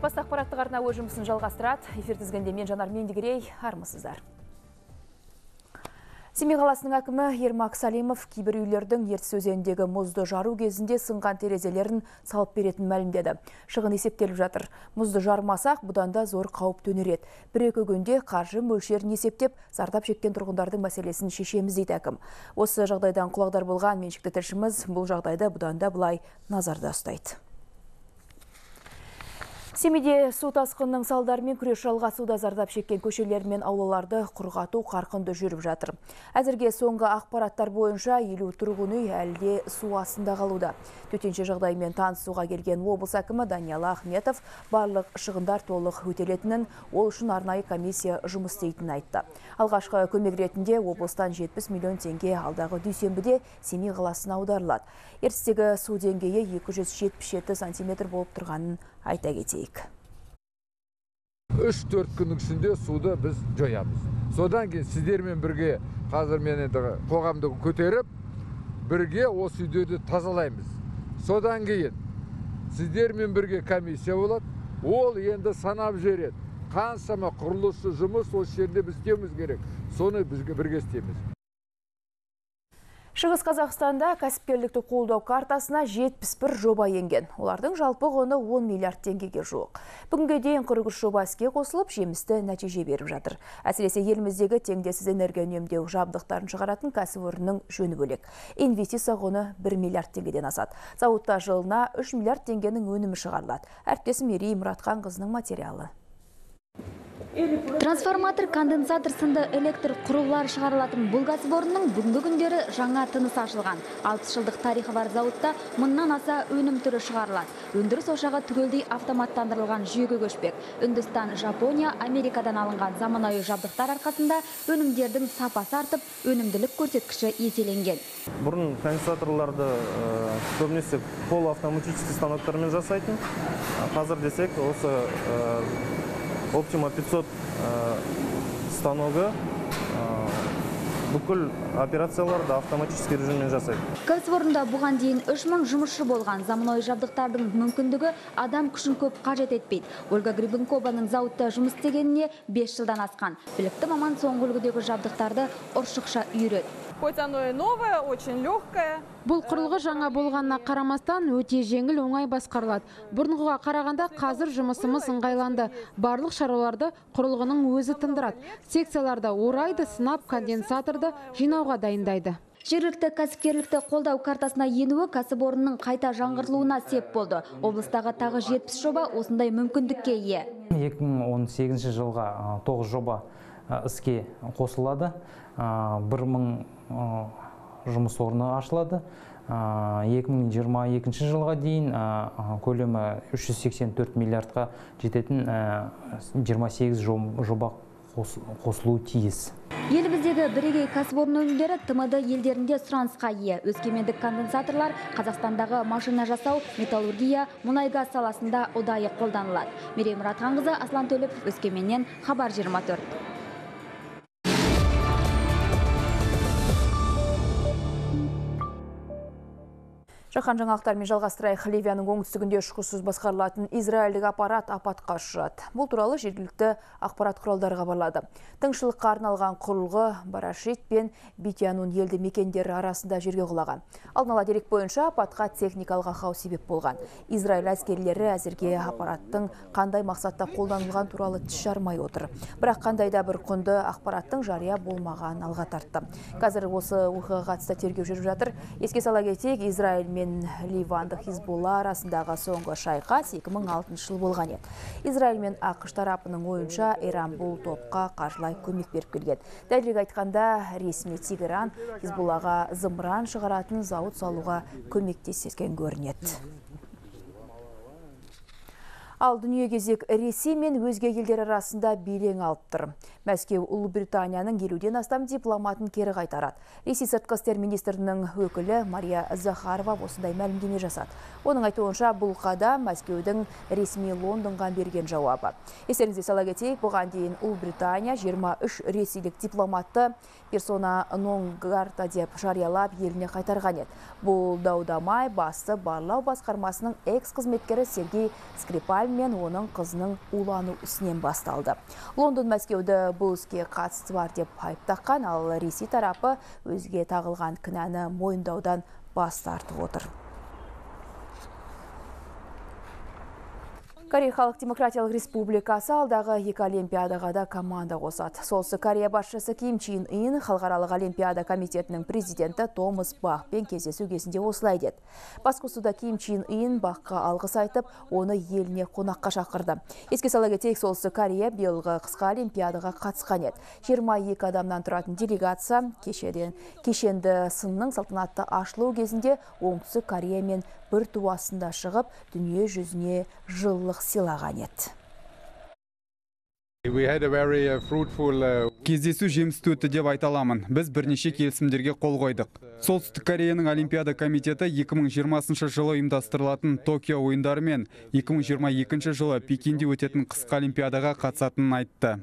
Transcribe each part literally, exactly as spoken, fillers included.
Бас ақпараттық арна өз жұмысын жалғастырады. Эфир тізгінде мен Жанар Мендігерей, армысыздар. Семей қаласының әкімі Ермак Салимов кейбір үйлердің ертіс өзеніндегі мұзды жару кезінде сынған терезелерін салып беретін мәлімдеді. Шығын есептеліп жатыр. Мұзды жармасақ, бұдан да зор қауіп төнереді. Бір-екі күнде қаржы мөлшерін есептеп, зардап шеккен тұрғындардың мәселесін шешеміз дейді әкім. Осы жағдайдан құлағдар болған меншікті тілшіміз бұл жағдайды бұдан да былай назарда ұстайды. Семейде су тасқынының салдарымен күрес жалғасуда, зардап шеккен көшелер мен аулаларды құрғату қарқынды жүріп жатыр. Әзірге соңғы ақпараттар бойынша елу тұрғын үй әлде су астында қалуда. Төтенше жағдаймен танысуға келген облыс әкімі Даниал Ахметов барлық шығындар толық өтелетінін, ол үшін арнайы комиссия жұмыс істейтінін айтты. Алғашқы көмек ретінде облыстан жетпіс миллион теңге алдағы дүйсенбіде Семей қаласына аударылады. Ертістегі су деңгейі екі жүз жетпіс жеті сантиметр болып тұрғанын айта кетейік. үш төрт күннің ішінде суды біз жоямыз. Содан кейін сіздермен бірге қазір мен енді қоғамды көтеріп, бірге осы үйлерді тазалаймыз. Содан кейін сіздермен бірге комиссия болады. Ол енді санап жібереді. Қаншама құрылысшы жұмыс осы жерде біз істеуіміз керек. Соны бізге бірге істейміз. Шығыс Қазақстанда кәсіпкерлікті қолдау картасына жетпіс бір жоба енген. Олардың жалпы құны он миллиард теңгеге жуық. Бүгінге дейін қырық үш жоба іске қосылып, жемісті нәтиже беріп жатыр. Әсіресе еліміздегі теңдессіз энергия үнемдеу жабдықтарын шығаратын кәсіпорынның жөні бөлек. Инвестиция құны бір миллиард теңгеден асады. Зауытта жылына үш миллиард теңгенің өнімі шығарылады. Әріптесім Мерей Мұратханқызының материалы. Трансформатор, конденсатор сынды электр құрылғылар шығарылатын бұл кәсіпорынның бүгінгі күндері жаңа тыныс ашылған. алпыс жылдық тарихы бар зауытта мыңнан аса өнім түрі шығарылады. Өндіріс ошағы түгелдей автоматтандырылған жүйеге көшпек. Үндістан, Жапония, Америкадан алынған заманауи жабдықтар арқасында өнімдердің сапасы артып, өнімділік көрсеткіші еселенген. Бұрын конденсаторларды көбінесе полуавтоматический станоктармен жасайтын. Қазір десек, осы Optima пятьсот станогы бүкіл операцияларды автоматический режиммен жасайды. Кәсіпорында бұған дейін үш мың жұмысшы болған. Заманауи жабдықтардың мүмкіндігі адам күшін көп қажет етпейді. Ольга Грибенкованың зауытта жұмыс істегеніне бес жылдан асқан. Білікті маман соңғы үлгідегі жабдықтарды ұршықша үйрет. Хоть оно и новое, очень легкое. Бұл құрылғы жаңа болғанына қарамастан өте жеңіл, оңай басқарылады. Бұрынғыға қарағанда қазір жұмысымыз ыңғайланды. Барлық шаруаларды құрылғының өзі тындырады. Секцияларда орайды, сынап, конденсаторды жинауға дайындайды. Жергілікті кәсіпкерлікті қолдау картасына енуі кәсіпорынның қайта жаңғыртылуына сеп болды. Облыстағы тағы жетпіс жоба осындай мүмкіндікке ие. екі мың он сегізінші жылға тоғыз жоба іске қосылады. бір мың жұмыс орны ашылады. екі мың жиырма екінші жылға дейін көлемі үш жүз сексен төрт миллиардқа жететін жиырма сегіз жоба қосылуы тиіс. Еліміздегі бірегей кәсіпорын өнімдері Т М Д елдерінде сұранысқа ие. Өскемендік конденсаторлар Қазақстандағы машина жасау, металлургия, мұнай-газ саласында ұдайы қолданылады. Мерей Мұратханқызы, Аслан Төлепов, Өскеменнен, Хабар жиырма төрт. Жаһан жаңалықтарымен жалғастырайық. Ливияның оңтүстігінде ұшқышсыз басқарылатын израильдік аппарат апатқа ұшырады. Бұл туралы жергілікті ақпарат құралдары хабарлады. Тыңшылыққа арналған құрылғы Барашит пен Битянун елді мекендері арасында жерге құлаған. Алдын ала дерек бойынша апатқа техникалық ақау себеп болған. Израиль әскерилері әзірге аппараттың қандай мақсатта қолданылған туралы тіс жармай отыр. Бірақ қандай да бір құнды ақпараттың жария болмаған алға тартты. Қазір осы оқиғаға қатысты тергеу жүріп жатыр. Еске сала кетейік, Израиль мен Ливандық Хизбулла арасындағы соңғы шайқас екі мың алтыншы жыл болған еді. Израиль мен ақш тарапының ойынша Иран бұл топқа қаржылай көмек беріп келген. Дәлірек айтқанда, ресми Тегеран Хизбуллаға зымыран шығаратын зауыт салуға көмектескен көрінеді. Ал дүние кезек Ресей мен өзге елдер арасында белең алып тұр. Мәскеу Ұлыбританияның елуден астам дипломатын кері қайтарады. Ресей сыртқы істер министрінің өкілі Мария Захарова осындай мәлімдеме жасады. Оның айтуынша бұл қадам Мәскеудің ресми Лондонға берген жауабы. Естеріңізге сала кетейік, бұған дейін Ұлыбритания жиырма үш ресейлік дипломатты персона нон грата деп жариялап еліне қайтарған еді. Бұл даудамай басты барлау басқармасының экс-қызметкері Сергей Скрипаль мен оның қызының улану ісінен басталды. Лондон Мәскеуді бұл іске қатысы бар деп айыптаған, ал Ресей тарапы өзге тағылған кінәні мойындаудан бас тартып отыр. Корея Халық Демократиялық Республикасы алдағы екі олимпиадаға да команда қосады. Солтүстік Корея басшысы Ким Чен Ын Халықаралық олимпиада комитетінің президенті Томас Бахпен кездесу кезінде осылай деді. Басқосуда Ким Чен Ын Бахқа алғыс айтып, оны еліне қонаққа шақырды. Еске сала кетейік, Солтүстік Корея биылғы қысқы олимпиадаға қатысқан еді. жиырма екі адамнан тұратын делегация кешеден кешенді сынның салтанатты ашылу кезінде Оңтүстік Корея мен бір туасында шығып, дүние жүзіне жылылық сыйлаған еді. Кездесу жемісті өтті деп айта аламын. Біз бірнеше келісімдерге қол қойдық. Солтүстік Кореяның Олимпиада комитеті екі мың жиырмасыншы жылы ұйымдастырылатын Токио ойындары мен екі мың жиырма екінші жылы Пекинде өтетін қысқы олимпиадаға қатысатынын айтты.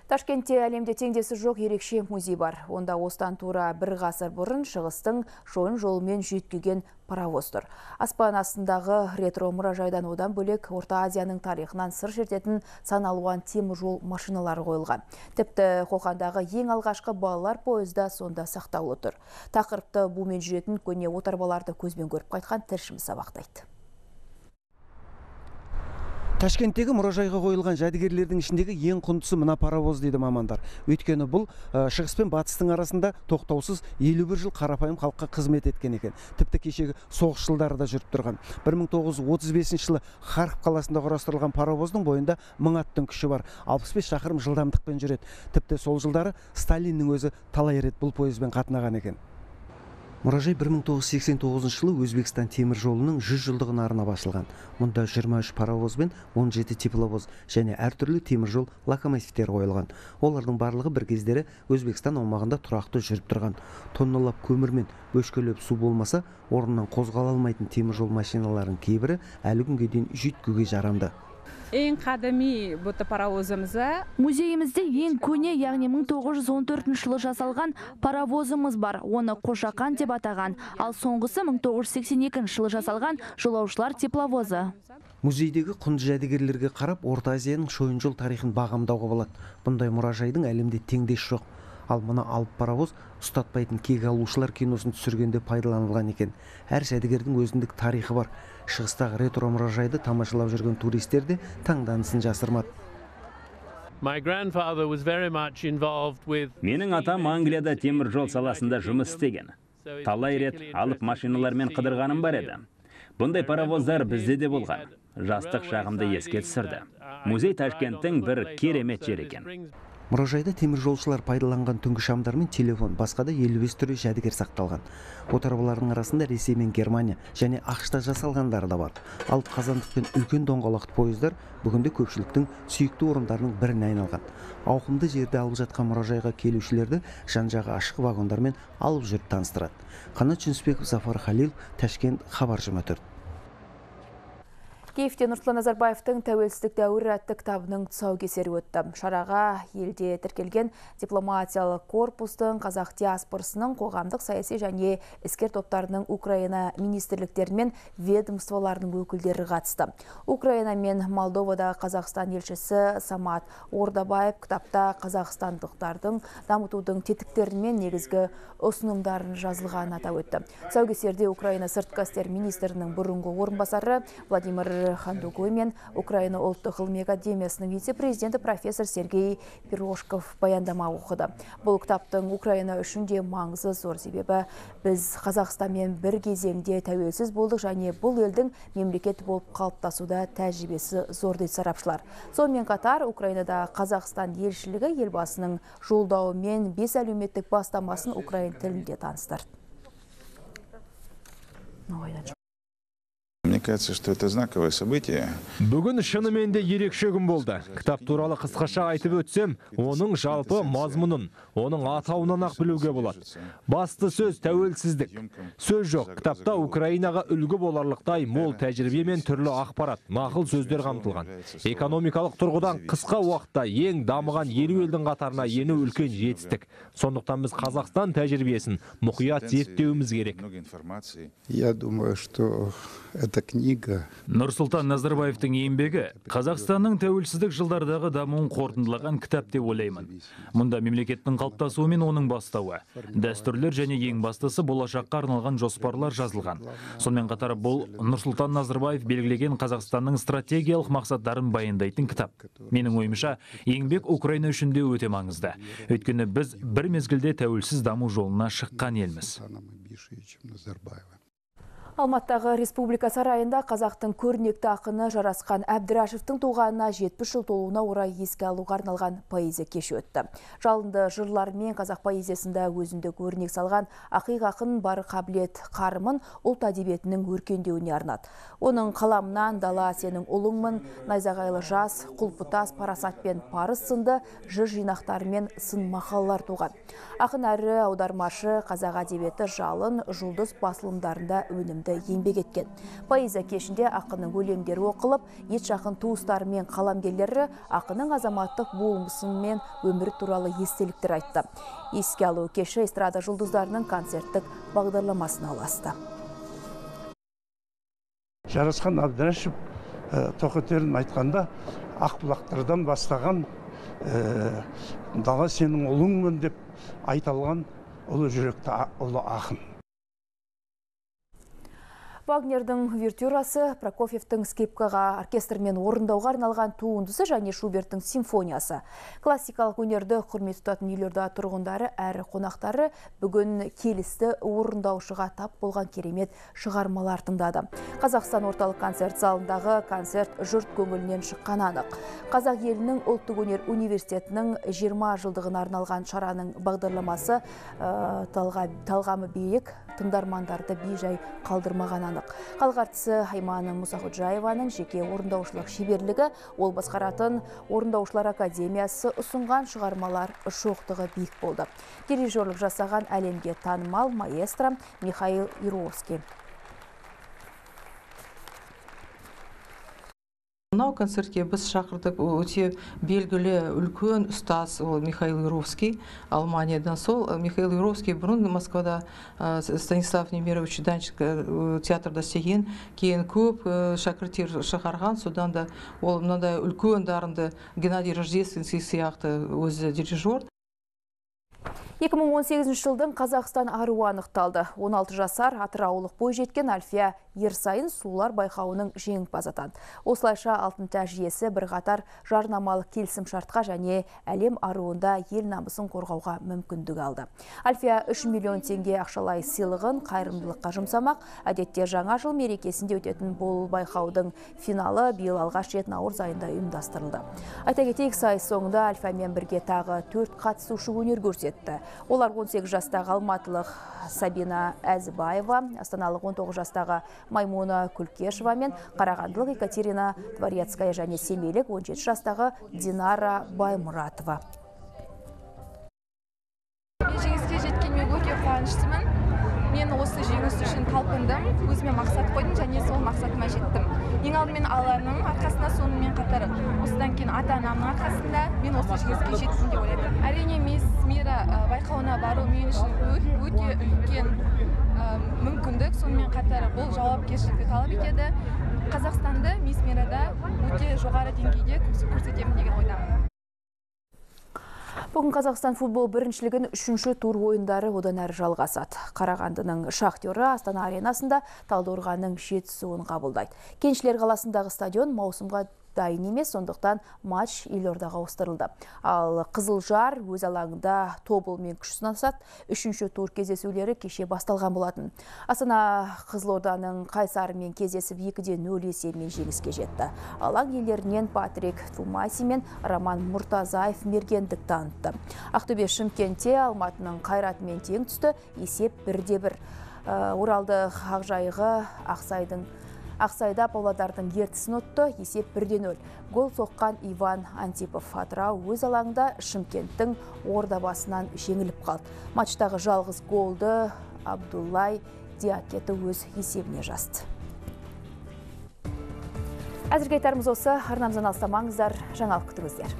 Ташкентте әлемде теңдесі жоқ ерекше музей бар. Онда осыдан тура бір ғасыр бұрын шығыстың шойын жолымен жүйткіген паровоз тұр. Аспан астындағы ретро мұражайдан одан бөлек Орта Азияның тарихынан сыр шертетін сан алуан темір жол машиналары қойылған. Тіпті Қоқандағы ең алғашқы балалар пойызда сонда сақтаулы тұр. Тақырыпты бумен жүретін көне отарбаларды көзбен көріп қайтқан тілшіміз сабақтайды. Ташкенттегі мұражайға қойылған жәдігерлердің ішіндегі ең құндысы мына паровоз дейді мамандар. Өйткені бұл шығыс пен батыстың арасында тоқтаусыз елу бір жыл қарапайым халыққа қызмет еткен екен. Тіпті кешегі соғыс жылдары да жүріп тұрған. бір мың тоғыз жүз отыз бесінші жылы Харков қаласында құрастырылған паровоздың бойында мың аттың күші бар. алпыс бес шақырым жылдамдықпен жүреді. Тіпті сол жылдары Сталиннің өзі талай рет бұл пойызбен қатынаған екен. Мұражай бір мың тоғыз жүз сексен тоғызыншы жылы Өзбекстан темір жолының жүз жылдығына арнап ашылған. Мұнда жиырма үш паровоз бен он жеті тепловоз және әртүрлі темір жол локомотивтер қойылған. Олардың барлығы бір кездері Өзбекстан аумағында тұрақты жүріп тұрған. Тонналап көмір мен бөшкелеп су болмаса, орнынан қозғала алмайтын темір жол машиналарының кейбірі әлі күнге дейін жүйткуге жарамды. Ең қадами бұты паровозымызы. Музейімізде ең көне, яғни мың тоғыз жүз он төртінші жылы жасалған паровозымыз бар. Оны Қошақан деп атаған. Ал соңғысы мың тоғыз жүз сексен екінші жылы жасалған жолаушылар тепловозы. Музейдегі құнды жәдігерлерге қарап, Орта Азияның шойын жол тарихын бағамдауға болады. Бұндай мұражайдың әлемде теңдесі жоқ. Ал мына алып паровоз ұстатпайтын кек алушылар киносын түсіргенде пайдаланылған екен. Әр жәдігердің өзіндік тарихы бар. Шығыстағы ретро мұражайды тамашалап жүрген туристер де таңданысын жасырмады. Менің атам Англияда темір жол саласында жұмыс істеген. Талай рет алып машиналармен қыдырғаным бар еді. Бұндай паровоздар бізде де болған. Жастық шағымды еске түсірді. Музей Ташкенттің бір керемет жер екен. Мұражайда темір жолшылар пайдаланған түнгі шамдар мен телефон, басқа да елу бес түрі жәдігер сақталған. Отарбалардың арасында Ресей мен Германия және ақш-та жасалғандары да бар. Ал қазандық пен үлкен доңғалақты пойыздар бүгінде көпшіліктің сүйікті орындарының біріне айналған. Ауқымды жерде алып жатқан мұражайға келушілерді жан-жағы ашық вагондармен алып жүріп таныстырады. Қанат Жүнісбеков, Зафар Халил, Ташкент, Хабар жиырма төрт. Киевте Нұрсұлтан Назарбаевтың тәуелсіздік дәуірі атты кітабының тұсаукесері өтті. Шараға елде тіркелген дипломатиялық корпустың, қазақ диаспорасының, қоғамдық саяси және іскер топтарының Украина министрліктері мен ведомстволарының өкілдері қатысты. Украина мен Молдовада Қазақстан елшісі Самат Ордабаев кітапта қазақстандықтардың дамытудың тетіктері мен негізгі ұсынымдарын жазылғанын атап өтті. Тұсаукесерде Украина сыртқы істер министрінің бұрынғы орынбасары Владимир Хандугой мен Украина ұлттық ғылыми академиясының вице-президенті профессор Сергей Пирожков баяндама оқыды. Бұл кітаптың Украина үшін де маңызы зор, себебі біз Қазақстанмен бір кезеңде тәуелсіз болдық және бұл елдің мемлекет болып қалыптасуда тәжірибесі зор дейді сарапшылар. Сонымен қатар Украинада Қазақстан елшілігі елбасының жолдауы мен бес әлеуметтік бастамасын украин тілінде таныстырды. Мне кажется, что это знаковое событие. Бүгін шынымен де ерекше күн болды. Кітап туралы қысқаша айтып өтсем, оның жалпы мазмұнын, оның атауынан ақ білуге болады. Басты сөз тәуелсіздік. Сөз жоқ, кітапта Украинаға үлгі боларлықтай мол тәжірибе мен түрлі ақпарат, нақыл сөздер қамтылған. Экономикалық тұрғыдан қысқа уақытта ең дамыған елу елдің қатарына ену үлкен жетістік. Сондықтан біз Қазақстан тәжірибесін мұқият зерттеуіміз керек. Я думаю, что эта книга. Нұрсұлтан Назарбаевтың еңбегі Қазақстанның тәуелсіздік жылдардағы дамуын қорытындылаған кітап деп ойлаймын. Мұнда мемлекеттің қалыптасуы мен оның бастауы, дәстүрлер және ең бастысы болашаққа арналған жоспарлар жазылған. Сонымен қатар бұл Нұрсұлтан Назарбаев белгілеген Қазақстанның стратегиялық мақсаттарын баяндайтын кітап. Менің ойымша, еңбек Украина үшін де өте маңызды. Өйткені біз бір мезгілде тәуелсіз даму жолына шыққан елміз. Алматтағы Республика сарайында қазақтың көрнекті ақыны Жарасқан Әбдірашевтің туғанына жетпіс жыл толуына орай еске алуға арналған поэзия кеші өтті. Жалынды жырлармен қазақ поэзиясында өзіндік өрнек салған ақиқ ақын бар қабілет қарымын ұлт әдебиетінің өркендеуіне арнады. Оның қаламынан дала сенің ұлыңмын, найзағайлы жас, құлпытас, парасат пен парыз сынды жыр жинақтары мен сын мақалалар туған. Ақын әрі аудармашы қазақ әдебиеті жалын жұлдыз басылымдарында өнімді еңбек еткен. Поэзия кешінде ақынның өлеңдері оқылып, ет жақын туыстары мен қаламгерлері ақынның азаматтық болмысы мен өмірі туралы естеліктер айтты. Еске алу кеші эстрада жұлдыздарының концерттік бағдарламасына ұласты. Жарасқан Әбдірашев тоқетерін айтқанда ақбұлақтардан бастаған дала сенің ұлыңмын деп айтылған ұлы жүректі ұлы ақын. Вагнердің увертюрасы, Прокофьевтің скрипкаға оркестрмен орындауға арналған туындысы және Шуберттің симфониясы. Классикалық өнерді құрмет тұтатын елорда тұрғындары әрі қонақтары бүгін келісті орындаушыға тап болған керемет шығармалар тыңдады. Қазақстан орталық концерт залындағы концерт жұрт көңілінен шыққан анық. Қазақ елінің ұлттық өнер университетінің жиырма жылдығына арналған шараның бағдарламасы талғамы биік, тыңдармандарды бей-жай қалдырмаған анық. Халық әртісі Айманы Мұсақұджаеваның жеке орындаушылық шеберлігі, ол басқаратын орындаушылар академиясы ұсынған шығармалар шоқтығы биік болды. Дирижерлік жасаған әлемге танымал маэстро Михаил Юровский. Мынау концертке біз шақырдық өте белгілі үлкен ұстаз Михаил Юровский, Алманиядан. Сол Михаил Юровский бұрын Москвада Станислав Немирович Данченко театрда істеген, кейін көп шәкірттер шығарған, содан да ол мынандай үлкен дарынды Геннадий Рождественский сияқты өзі дирижер. екі мың он сегізінші жылдың Қазақстан аруы анықталды. он алты жасар атыраулық бойжеткен Альфия Ерсайын сұлулар байқауының жеңімпазы атанды. Осылайша алтын тәж иесі бірқатар жарнамалық келісім шартқа және әлем аруында ел намысын қорғауға мүмкіндік алды. Альфия үш миллион теңге ақшалай сыйлығын қайырымдылыққа жұмсамақ. Әдетте жаңа жыл мерекесінде өтетін бұл байқаудың финалы биыл алғаш рет наурыз айында ұйымдастырылды. Айта кетейік, сайыс соңында Альфиямен бірге тағы төрт қатысушы өнер көрсетті. Олар он сегіз жастағы алматылық Сабина Әзібаева, астаналық он тоғыз жастағы Маймуна Күлкешева мен қарағандылық Екатерина Дворецкая және семейлік он жеті жастағы Динара Баймұратова. Жеңіске жеткеніме өте қуаныштымын. Мен осы жеңіс үшін талпындым, өзіме мақсат қойдым және сол мақсатыма жеттім. Ең алдымен Алланың арқасында, сонымен қатар осыдан кейін ата-анамның арқасында мен осы жеңіске жеттім деп ойлаймын. Әрине Мисс Мира байқауына бару мен үшін өте үлкен мүмкіндік, сонымен қатар бұл жауапкершілікті талап етеді. Қазақстанды Мисс Мирада өте жоғары деңгейде көрсетемін деген ойдамын. Бүгін Қазақстан футбол біріншілігін үшінші тур ойындары одан әрі жалғасады. Қарағандының Шахтері Астана аренасында Талдықорғанның Жетісуын қабылдайды. Кеншілер қаласындағы стадион маусымға дайын емес, сондықтан матч елордаға ауыстырылды. Ал Қызылжар өз алаңында Тобылмен күш сынасады. Үшінші тур кездесулері кеше басталған болатын. Астана Қызылорданың Қайсарымен кездесіп екі нөл есебімен жеңіске жетті. Алаң иелерінен Патрик Тумаси мен Роман Мұртазаев мергендік танытты. Ақтөбе Шымкентте Алматының Қайратымен тең түсті, есеп бірде бір. Оралды Ақжайығы Ақсайдың Ақсайда Павлодардың ертісін ұтты, есеп бірде нөл. Гол соққан Иван Антипов. Атырау өз алаңында Шымкенттің Ордабасынан жеңіліп қалды. Матчтағы жалғыз голды Абдуллай Диакеті өз есебіне жазды. Әзірге айтарымыз осы. Арнамыздан алыстамаңыздар, жаңалық күтіңіздер.